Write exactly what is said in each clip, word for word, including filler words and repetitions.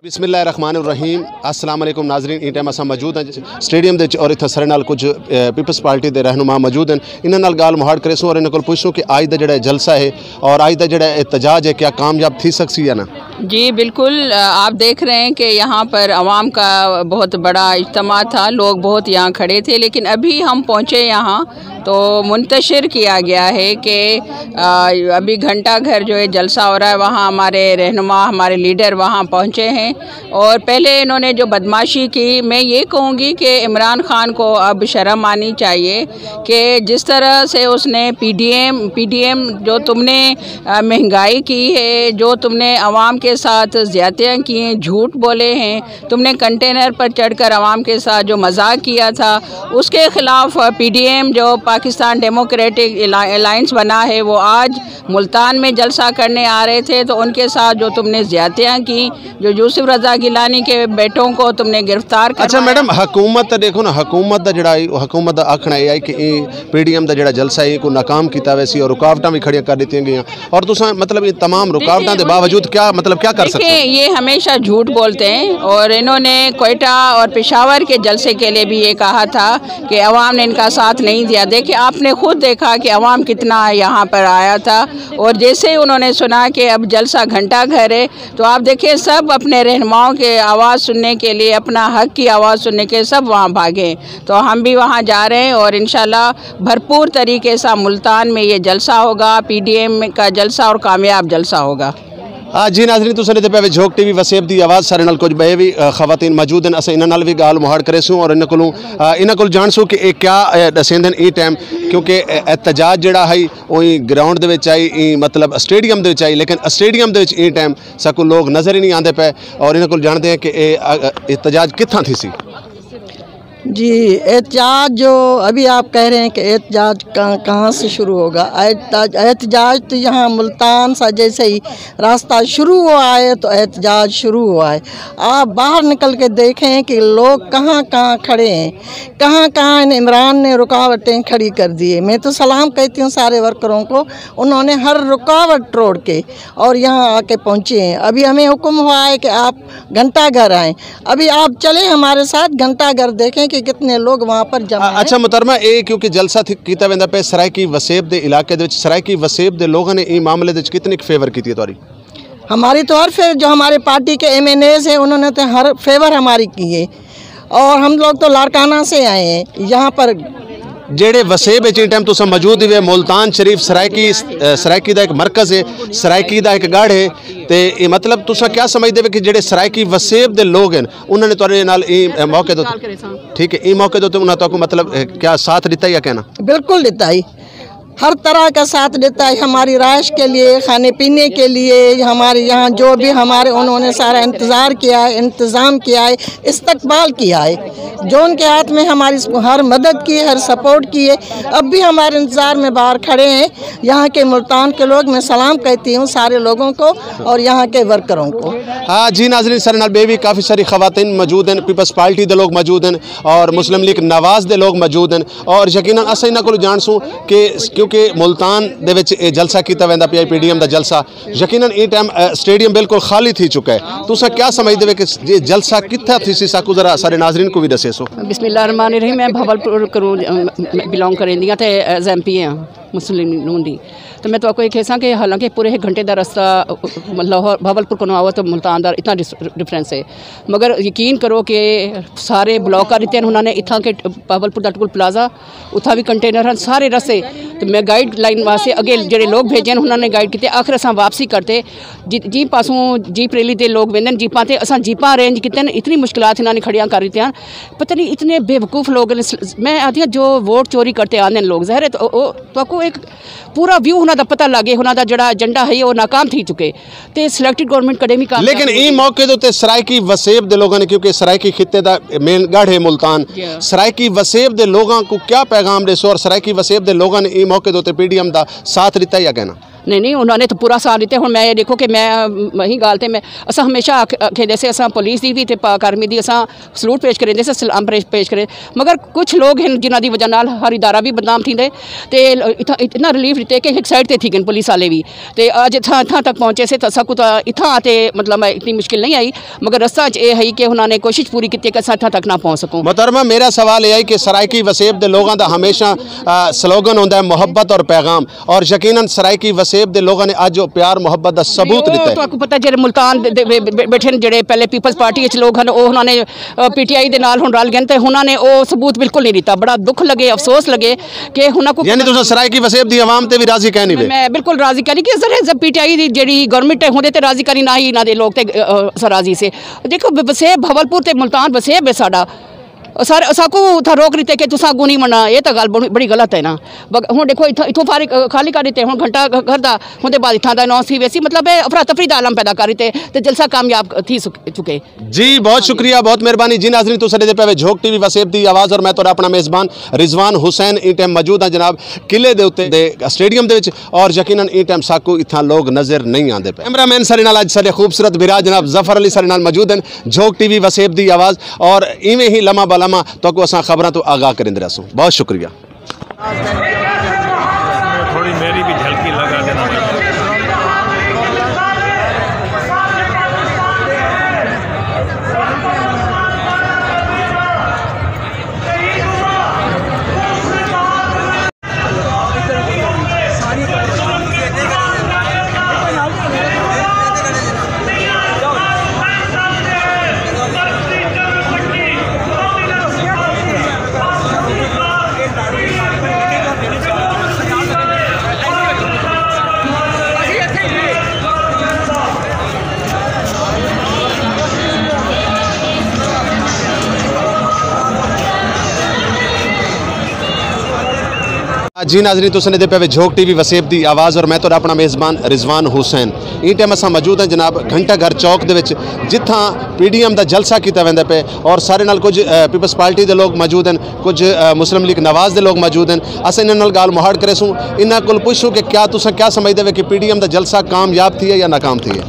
بسم اللہ الرحمن الرحیم۔ السلام علیکم ناظرین، ایں ٹائم اساں موجود ہیں سٹیڈیم دے وچ اور اتھاں سارے نال کچھ، اے، پیپلز پارٹی دے رہنما موجود ہیں۔ انہاں نال ڳالھ مہاڑ کریسوں اور انہاں کول پچھسوں کہ اڄ دا جڑا جلسہ ہے اور اڄ دا جڑا احتجاج ہے، کیا کامیاب تھی سکسی یا نہ؟ جی بالکل، آ، آپ دیکھ رہے ہیں کہ یہاں پر عوام کا بہت بڑا اجتماع تھا، لوگ بہت یہاں کھڑے تھے، لیکن ابھی ہم پہنچے یہاں تو منتشر کیا گیا ہے کہ، آ، ابھی گھنٹہ گھر جو ہے جلسہ ہو رہا ہے، وہاں ہمارے رہنما، ہمارے لیڈر وہاں پہنچے ہیں اور پہلے انہوں نے جو بدمعاشی کی، میں یہ کہوں گی کہ عمران خان کو اب شرم آنی چاہیے کہ جس طرح سے اس نے P D M, P D M جو تم نے، آ، مہنگائی کی ہے، جو تم نے عوام کے ساتھ زیادتیاں کی ہیں، جھوٹ بولے ہیں، تم نے کنٹینر پر چڑھ کر عوام کے ساتھ جو مذاق کیا تھا، اس کے خلاف پی ڈی ایم جو پاکستان ڈیموکریٹک الا-، الائنس بنا ہے، وہ آج ملتان میں جلسہ کرنے آ رہے تھے، تو ان کے ساتھ جو تم نے زیادتیاں کی، جو یوسف رضا گیلانی کے بیٹوں کو تم نے گرفتار اچھا کروایا۔ میڈم، حکومت تے ݙیکھو نا، حکومت دا جڑا ہے، حکومت دا آکھݨا اے آئی کہ ایں پی ڈی ایم دا جڑا جلسہ ہے، کو ناکام کیتا ویسی اور رکاوٹاں بھی کھڑیاں کر ݙتیاں گئیاں۔ اور تساں مطلب یہ تمام رکاوٹاں دے باوجود کیا مطلب کیا کر سکتے ہیں؟ دیکھیں، یہ ہمیشہ جھوٹ بولتے ہیں اور انہوں نے کوئٹہ اور پشاور کے جلسے کے لیے بھی یہ کہا تھا کہ عوام نے ان کا ساتھ نہیں دیا۔ دیکھیں، آپ نے خود دیکھا کہ عوام کتنا یہاں پر آیا تھا اور جیسے ہی انہوں نے سنا کہ اب جلسہ گھنٹہ گھر ہے، تو آپ دیکھیں، سب اپنے رہنماؤں کے آواز سننے کے لیے، اپنا حق کی آواز سننے کے سب وہاں بھاگے۔ تو ہم بھی وہاں جا رہے ہیں اور انشاءاللہ بھرپور طریقے سے ملتان میں یہ جلسہ ہوگا، پی ڈی ایم کا جلسہ اور کامیاب جلسہ ہوگا۔ آ، جی ناظرین، تساں ݙیہدے پئے وے جھوک ٹی وی وسیب دی آواز، سارے نال کچھ ٻئے وی، آ، خواتین موجود ہیں، اساں انہاں نال وی ڳالھ مہاڑ کریسوں اور انہاں کولوں، آ، انہاں کول جانسوں کہ اے کیا، آ، ݙسیندن ایں ٹائم، کیونکہ، آ، احتجاج جڑا ہے او ایں گراؤنڈ دے وچ آئی، ایں مطلب اسٹیڈیم دے وچ آئی، لیکن اسٹیڈیم دے وچ ایں ٹائم ساکوں لوگ نظر ہی نہیں آندے پئے اور انہاں کول جاندے ہیں کہ اے، آ، آ، احتجاج کتھاں تھیسی۔ جی، احتجاج جو ابھی آپ کہہ رہے ہیں کہ احتجاج کہاں، کہاں سے شروع ہوگا؟ احتجاج، احتجاج تو یہاں ملتان سا جیسے ہی راستہ شروع ہوا ہے تو احتجاج شروع ہوا ہے۔ آپ باہر نکل کے دیکھیں کہ لوگ کہاں کہاں کھڑے ہیں، کہاں کہاں ان عمران نے رکاوٹیں کھڑی کر دی ہے۔ میں تو سلام کہتی ہوں سارے ورکروں کو، انہوں نے ہر رکاوٹ توڑ کے اور یہاں آ کے پہنچے ہیں۔ ابھی ہمیں حکم ہوا ہے کہ آپ گھنٹہ گھر آئیں۔ ابھی آپ چلیں ہمارے ساتھ، گھنٹہ گھر دیکھیں کہ کتنے لوگ وہاں پر جمع آ، ہیں۔ اچھا محترمہ، اے کیونکہ جلسہ تھی، کیتا ویندا پئے سرائیکی وسیب دے علاقے دے وچ، سرائیکی وسیب دے لوگاں نے ایں معاملے دے وچ کتنی فیور کیتی ہے تہاݙی؟ ہماری تو ہر فیور، جو ہمارے پارٹی کے ایم این ایز ہیں، انہوں نے تو ہر فیور ہماری کی ہے اور ہم لوگ تو لاڑکانہ سے آئے ہیں یہاں پر۔ جیڑھے وسیب وچ ایں ٹائم تساں موجود ہوئے، ملتان شریف سرائیکی، اے، سرائیکی دا ایک مرکز ہے، سرائیکی دا ایک گڑھ ہے، تے اے مطلب تساں کیا سمجھدے وے کہ جیڑھے سرائیکی وسیب دے لوگ ہیں، انہاں نے تہاݙے نال ایں، اے، موقع دے، ٹھیک ہے، ایں موقع دے تے انہاں تہاکوں مطلب، اے، کیا ساتھ ݙتا یا کہنا؟ بالکل ݙتا ہے، ہر طرح کا ساتھ ݙتا ہے، ہماری رہائش کے لیے، کھانے پینے کے لیے، ہمارے یہاں جو بھی ہمارے، انہوں نے سارا انتظار کیا ہے، انتظام کیا ہے، استقبال کیا ہے۔ جو ان کے ہاتھ میں ہماری ہر مدد کی، ہر سپورٹ کی ہے، اب بھی ہمارے انتظار میں باہر کھڑے ہیں۔ یہاں کے ملتان کے لوگ، میں سلام کہتی ہوں سارے لوگوں کو اور یہاں کے ورکروں کو۔ ہاں جی ناظرین، سارے نال ٻئے وی کافی ساری خواتین موجود ہیں، پیپلز پارٹی دے لوگ موجود ہیں اور مسلم لیگ نواز دے لوگ موجود ہیں اور یقیناً اساں انہاں کولوں جانسوں کہ کیونکہ ملتان دے وچ اے جلسہ کیتا ویندا پیا، پی ڈی ایم دا جلسہ، یقیناً ایں ٹائم، اے، سٹیڈیم بالکل خالی تھی چکا ہے۔ تساں کیا سمجھدے وے کہ یہ جلسہ کتھاں تھیسی، ساکوں ذرا سارے ناظرین کوں وی ݙسیسو۔ بسم اللہ الرحمن الرحیم، میں بھاولپور کولوں، ام، بلانگ کریندی ہاں تے ایز ایم پی ہاں مسلم نون دی۔ تو میں تہاکوں ایک کہساں کہ حالانکہ پورے ایک گھنٹے دا رستہ، ام، لاہور، بھاولپور کنوں آؤ تو ملتان دا اتنا ڈس-، ڈفرینس ہے، مگر یقین کرو کہ سارے بلاک کر ݙتے ہیں انہاں نے، اتھاں کے بھاولپور دا ٹول پلازہ، اتھاں بھی کنٹینر ہیں، سارے رستے۔ تو میں گائیڈ لائن واسطے اڳے جڑے لوگ بھیجے ہیں، انہاں نے گائیڈ کیتے، آخر اساں واپسی کرتے، جی، جی پاسوں جیپ ریلی دے لوگ ویندے ہیں، جیپاں تے اساں جیپاں ارینج کیتے ہیں، اتنی مشکلات انہاں نے کھڑیاں کر ݙتیاں ہیں۔ پتہ نہیں اتنے بیوقوف لوگ ہیں۔ میں آہدی ہاں جو ووٹ چوری کرتے آندے ہیں لوگ، ظاہر ہے تو او، او، تہاکوں ایک پورا ویو انہاں دا پتہ لڳے، انہاں دا جڑا ایجنڈا ہے او ناکام تھی چکے۔ تے سلیکٹڈ گورنمنٹ کݙیں وی کامیاب لیکن ایں موقع دے اتے سرائیکی وسیب دے لوگاں نے، کیونکہ سرائیکی خطے دا مین گڑھ ہے ملتان، جی۔ سرائیکی وسیب دے لوگاں کوں کیا پیغام ݙیسو اور سرائیکی وسیب دے لوگاں نے ایں موقع دے اتے پی ڈی ایم دا ساتھ ݙتا یا کہنا؟ نہیں نہیں، انہاں نے تو پورا ساتھ ݙتے۔ ہݨ میں ݙیکھو کہ میں، ہی ڳالھ تے میں، اساں ہمیشہ آکھ- آکھیندے سے، اساں پولیس دی وی تے پاک آرمی دی اساں سلوٹ پیش کریندے سے، سلام پیش کریندے۔ مگر کچھ لوگ ہن جنہاں دی وجہ نال ہر ادارہ وی بدنام تھیندے تے اتنا ریلیف ݙتے کہ ہک سائیڈ تے تھی ڳئے پولیس والے وی۔ تے اڄ اتھاں اتھاں تک پہنچے سے، تاں اساں کوں تاں اتھاں آ تے مطلب اتنی مشکل نہیں آئی، مگر رستہ اچ اے ہئی کہ انہاں نے کوشش پوری کیتی کہ اساں اتھاں تک نہ پہنچ سکوں۔ محترمہ، میرا سوال اے ہے کہ سرائیکی وسیب دے لوگاں دا ہمیشہ سلوگن ہوندا ہے محبت اور پیغام، اور یقیناً سرائیکی وسیب دے لوگاں نے اڄ او پیار محبت دا ثبوت ݙتا ہے۔ تہاکوں پتہ جیڑھے ملتان دے بیٹھے جیڑھے پہلے پیپلز پارٹی اچ لوگ ہن، او انہاں نے پی ٹی آئی دے نال ہݨ رل ڳئے تے انہاں نے او ثبوت بالکل نہیں ݙتا۔ بڑا دکھ لڳے، افسوس لڳے کہ انہاں کوں یعنی تساں سرائیکی وسیب دی عوام تے وی راضی کائنی وے؟ میں بالکل راضی کائنی کہ ظاہر ہے جب پی ٹی آئی دی جیڑھی گورنمنٹ ہے ہوندے تے راضی کائنی، نہ ہی انہاں دے لوگ تے اساں راضی سے۔ ݙیکھو وسیب بھاولپور تے ملتان وسیب ہے ساݙا، سر اساکوں اتھاں روک ݙتے کہ تساں اڳوں نہیں ونڄݨا، اے تاں ڳالھ بڑی بڑی غلط ہے نا۔ ہݨ ݙیکھو اتھاں اتھوں فارغ خالی کر ݙتے، ہݨ گھنٹہ گھر دا ہوندے بعد اتھاں دا اناؤنس تھی ویسی، مطلب ہے افراتفری دا عالم پیدا کر ݙتے تے جلسہ کامیاب تھی چکے۔ جی بہت شکریہ، بہت مہربانی۔ جی ناظرین، تساں ݙیہدے پئے وے جھوک ٹی وی وسیب دی آواز اور میں تہاݙا اپݨا میزبان رضوان حسین ایں ٹائم موجود ہاں جناب قلعے دے اتے دے اسٹیڈیم دے وچ، اور یقیناً ایں ٹائم ساکوں اتھاں لوگ نظر نہیں آندے پئے۔ کیمرہ مین ساݙے نال اڄ ساݙے خوبصورت بھرا جناب ظفر علی ساݙے نال موجود ہن۔ جھوک ٹی وی وسیب دی آواز، اور ایویں ہی لمحہ بہ لمحہ تہاکوں اساں خبراں توں آگاہ کریندے رہسوں۔ بہت شکریہ۔ تھوڑی میری بھی جھلکی لگا دینا۔ جی ناظرین، تساں ݙیہدے پئے وے جھوک ٹی وی وسیب دی آواز اور میں تہاݙا اپݨا میزبان رضوان حسین۔ ایں ٹائم اساں موجود ہیں جناب گھنٹہ گھر چوک دے وچ، جتھاں پی ڈی ایم دا جلسہ کیتا ویندا پئے اور ساݙے نال کجھ، اے، پیپلز پارٹی دے لوگ موجود ہیں، کجھ، اے، مسلم لیگ نواز دے لوگ موجود ہیں۔ اساں انہاں نال ڳالھ مہاڑ کریسوں، انہاں کول پچھوں کہ کیا تساں کیا سمجھدے وے کہ پی ڈی ایم دا جلسہ کامیاب تھیے یا ناکام تھیے؟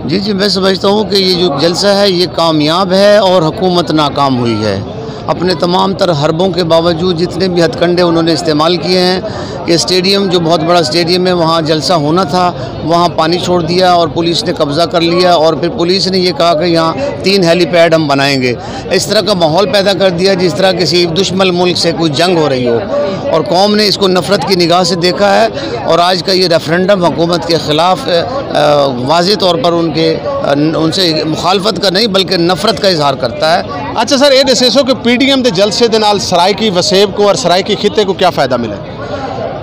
جی، جی، میں سمجھتا ہوں کہ یہ جو جلسہ ہے، یہ کامیاب ہے اور حکومت ناکام ہوئی ہے۔ اپنے تمام تر حربوں کے باوجود جتنے بھی ہتھ کنڈے انہوں نے استعمال کیے ہیں، کہ اسٹیڈیم جو بہت بڑا اسٹیڈیم ہے، وہاں جلسہ ہونا تھا، وہاں پانی چھوڑ دیا اور پولیس نے قبضہ کر لیا اور پھر پولیس نے یہ کہا کہ یہاں تین ہیلی پیڈ ہم بنائیں گے۔ اس طرح کا ماحول پیدا کر دیا جس طرح کسی دشمن ملک سے کوئی جنگ ہو رہی ہو، اور قوم نے اس کو نفرت کی نگاہ سے دیکھا ہے۔ اور آج کا یہ ریفرنڈم حکومت کے خلاف، آ، واضح طور پر ان کے، آ، ان سے مخالفت کا نہیں بلکہ نفرت کا اظہار کرتا ہے۔ اچھا سر، یہ دسیسو کہ پی ڈی ایم دے جلسے دے نال سرائیکی وسیب کو اور سرائیکی خطے کو کیا فائدہ ملے؟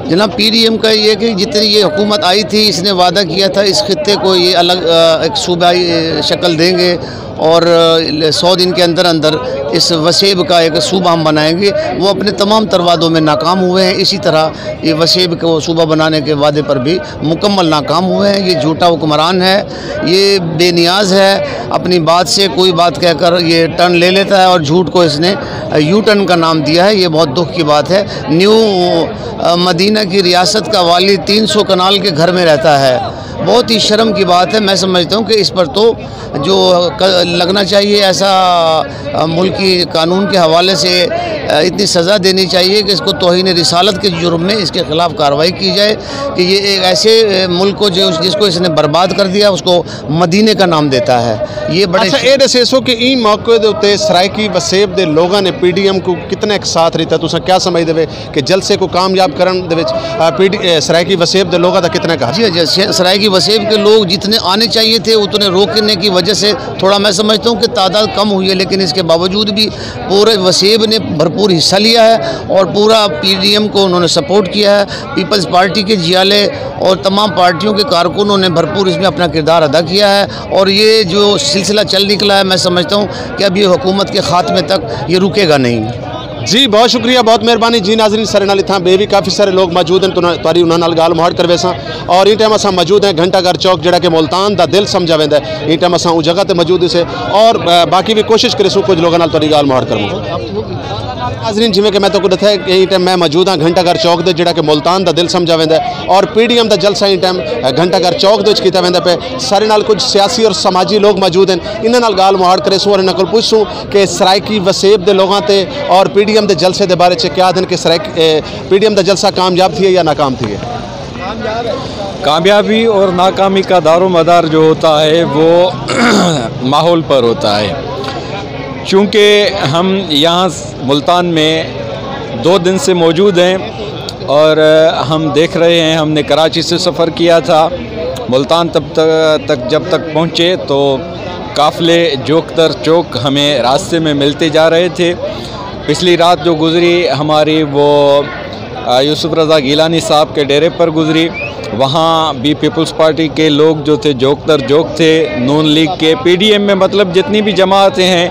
جناب، پی ڈی ایم کا یہ کہ جتنی یہ حکومت آئی تھی، اس نے وعدہ کیا تھا اس خطے کو یہ الگ، آ، ایک صوبائی، آ، شکل دیں گے اور، آ، سو دن کے اندر اندر اس وسیب کا ایک صوبہ ہم بنائیں گے۔ وہ اپنے تمام تر وعدوں میں ناکام ہوئے ہیں۔ اسی طرح یہ وسیب کو صوبہ بنانے کے وعدے پر بھی مکمل ناکام ہوئے ہیں۔ یہ جھوٹا حکمران ہے، یہ بے نیاز ہے، اپنی بات سے کوئی بات کہہ کر یہ ٹرن لے لیتا ہے اور جھوٹ کو اس نے یو ٹرن کا نام دیا ہے۔ یہ بہت دکھ کی بات ہے۔ نیو، آ، مدینہ کی ریاست کا والی تین سو کنال کے گھر میں رہتا ہے۔ بہت ہی شرم کی بات ہے۔ میں سمجھتا ہوں کہ اس پر تو جو ک-، لگنا چاہیے ایسا، آ، ملکی قانون کے حوالے سے، آ، اتنی سزا دینی چاہیے کہ اس کو توہین رسالت کے جرم میں اس کے خلاف کارروائی کی جائے کہ یہ ایک ایسے، آ، ملک کو جو، جس کو اس نے برباد کر دیا، اس کو مدینے کا نام دیتا ہے۔ یہ بڑے اچھا، اے ݙسیسو کہ ایں موقع دے اتے سرائیکی وسیب دے لوگاں نے پی ڈی ایم کو کتنے ک ساتھ ݙتا؟ تساں کیا سمجھدے وے کہ جلسے کو کامیاب کرن دے وچ، آ، پی ڈی، اے، سرائیکی وسیب دے لوگاں دا کتنا ک ہاتھ؟ جی، جی، سے-، سرائیکی وسیب کے لوگ جتنے آنے چاہیے تھے، اتنے روکنے کی وجہ سے تھوڑا، میں سمجھتا ہوں کہ تعداد کم ہوئی ہے، لیکن اس کے باوجود بھی پورے وسیب نے بھرپور حصہ لیا ہے اور پورا پی ڈی ایم کو انہوں نے سپورٹ کیا ہے۔ پیپلز پارٹی کے جیالے اور تمام پارٹیوں کے کارکنوں نے بھرپور اس میں اپنا کردار ادا کیا ہے اور یہ جو سلسلہ چل نکلا ہے، میں سمجھتا ہوں کہ اب یہ حکومت کے خاتمے تک یہ رکے گا نہیں۔ جی، بہت شکریہ، بہت مہربانی۔ جی ناظرین، سارے نال اتھاں ٻئے وی کافی سارے لوگ موجود ہیں، تہاݙی انہاں نال ڳالھ مہاڑ کرویساں۔ اور ایں ٹائم اساں موجود ہیں گھنٹہ گھر چوک، جیڑھا کہ ملتان دا دل سمجھا ویندا ہے۔ ایں ٹائم اساں اوں جگہ تے موجود ہیسے اور باقی وی کوشش کریسوں کجھ لوگاں نال تہاݙی ڳالھ مہاڑ کروں۔ ناظرین، جیویں کہ میں تہاکوں ݙسیا کہ ایں ٹائم میں موجود ہاں گھنٹہ گھر چوک دے، جیڑھا کہ ملتان دا دل سمجھا ویندا ہے اور پی ڈی ایم دا جلسہ ایں ٹائم گھنٹہ گھر چوک دے وچ کیتا ویندا پئے۔ سارے نال کجھ سیاسی اور سماجی لوگ موجود ہیں، انہاں نال ڳالھ مہاڑ کریسوں اور انہاں کول پچھسوں کہ سرائیکی وسیب دے لوگاں تے اور پی ڈی ایم دے جلسے دے بارے چ کیا آہدن کہ سرائیک-، اے، پی ڈی ایم دا جلسہ کامیاب تھیے یا ناکام تھیے؟ کامیابی اور ناکامی کا دار و مدار جو ہوتا ہے، وہ ماحول پر ہوتا ہے۔ چونکہ ہم یہاں ملتان میں دو دن سے موجود ہیں اور ہم دیکھ رہے ہیں، ہم نے کراچی سے سفر کیا تھا، ملتان تب تک، تک جب تک پہنچے تو قافلے جوک در جوک ہمیں راستے میں ملتے جا رہے تھے۔ پچھلی رات جو گزری ہماری، وہ، آ، یوسف رضا گیلانی صاحب کے ڈیرے پر گزری۔ وہاں بھی پیپلز پارٹی کے لوگ جو تھے، جوک در جوک تھے، نون لیگ کے، پی ڈی ایم میں، مطلب، جتنی بھی جماعتیں ہیں،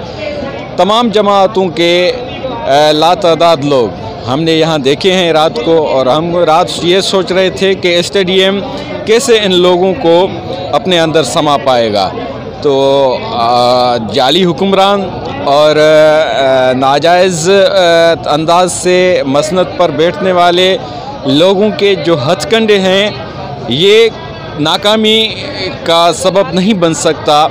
تمام جماعتوں کے، آ، لاتعداد لوگ ہم نے یہاں دیکھے ہیں رات کو، اور ہم رات یہ سوچ رہے تھے کہ اسٹیڈیم کیسے ان لوگوں کو اپنے اندر سما پائے گا۔ تو، آ، جعلی حکمران اور، آ، ناجائز، آ، انداز سے مسند پر بیٹھنے والے لوگوں کے جو ہتھ کنڈے ہیں، یہ ناکامی کا سبب نہیں بن سکتا،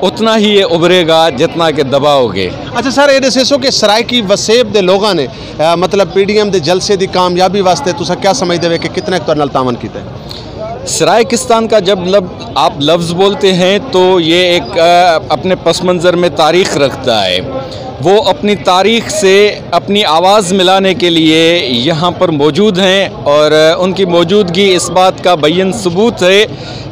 اتنا ہی یہ ابھرے گا جتنا کہ دباؤ گے۔ اچھا سر، یہ ݙسیسو کہ سرائیکی وسیب دے لوگاں نے، آ، مطلب، پی ڈی ایم دے جلسے دی کامیابی واسطے تساں کیا سمجھدے وے کہ کتنا ایک تہاݙے نال تعاون کیتا ہے؟ سرائیکستان کا جب لب-، آپ لفظ بولتے ہیں تو یہ ایک، آ، اپنے پس منظر میں تاریخ رکھتا ہے۔ وہ اپنی تاریخ سے اپنی آواز ملانے کے لیے یہاں پر موجود ہیں اور، آ، ان کی موجودگی اس بات کا بین ثبوت ہے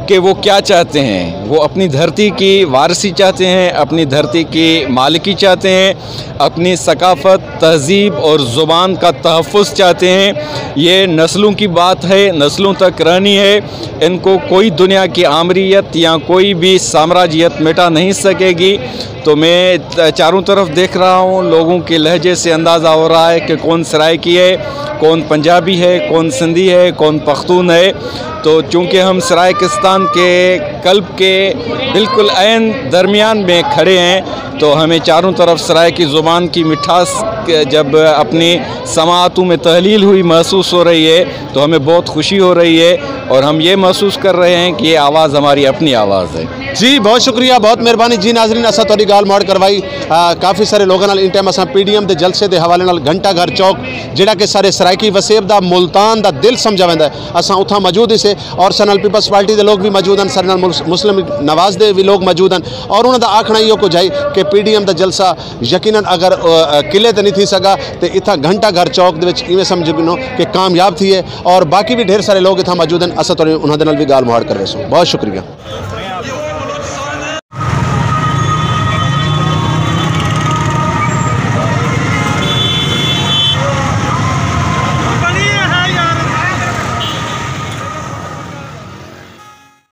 کہ وہ کیا چاہتے ہیں۔ وہ اپنی دھرتی کی وارثی چاہتے ہیں، اپنی دھرتی کی مالکی چاہتے ہیں، اپنی ثقافت، تہذیب اور زبان کا تحفظ چاہتے ہیں۔ یہ نسلوں کی بات ہے، نسلوں تک رہنی ہے۔ ان کو کوئی دنیا کی آمریت یا کوئی بھی سامراجیت مٹا نہیں سکے گی۔ تو میں چاروں طرف دیکھ رہا ہوں، لوگوں کے لہجے سے اندازہ ہو رہا ہے کہ کون سرائیکی ہے، کون پنجابی ہے، کون سندھی ہے، کون پختون ہے۔ تو چونکہ ہم سرائیکستان کے قلب کے بالکل عین درمیان میں کھڑے ہیں، تو ہمیں چاروں طرف سرائیکی زبان کی مٹھاس جب اپنی سماعتوں میں تحلیل ہوئی، محسوس ہو رہی ہے، تو ہمیں بہت خوشی ہو رہی ہے اور ہم یہ محسوس کر رہے ہیں کہ یہ آواز ہماری اپنی آواز ہے۔ جی، بہت شکریہ، بہت مہربانی۔ جی ناظرین، اساں تہاݙی ڳالھ مہاڑ کروائی، آ، کافی سارے لوگاں نال۔ ایں ٹائم اساں پی ڈی ایم دے جلسے دے حوالے نال گھنٹہ گھر چوک، جیڑھا کہ سارے سرائیکی وسیب دا، ملتان دا دل سمجھا ویندا ہے، اساں اتھاں موجود ہیسے اور سارے نال پیپلز پارٹی دے لوگ وی موجود ہن، سارے نال مل-، مسلم نواز دے وی لوگ موجود ہن اور انہاں دا آکھݨا ایہو کجھ ہے کہ پی ڈی ایم دا جلسہ یقیناً اگر، آ، قلعے تے نہیں تھی سڳا تے اتھاں گھنٹہ گھر چوک دے وچ ایویں سمجھ گھنو کہ کامیاب تھیے۔ اور باقی وی ڈھیر سارے لوگ اتھاں موجود ہن، اساں تہاݙے انہاں دے نال وی ڳالھ مہاڑ کرویسوں۔ بہت شکریہ۔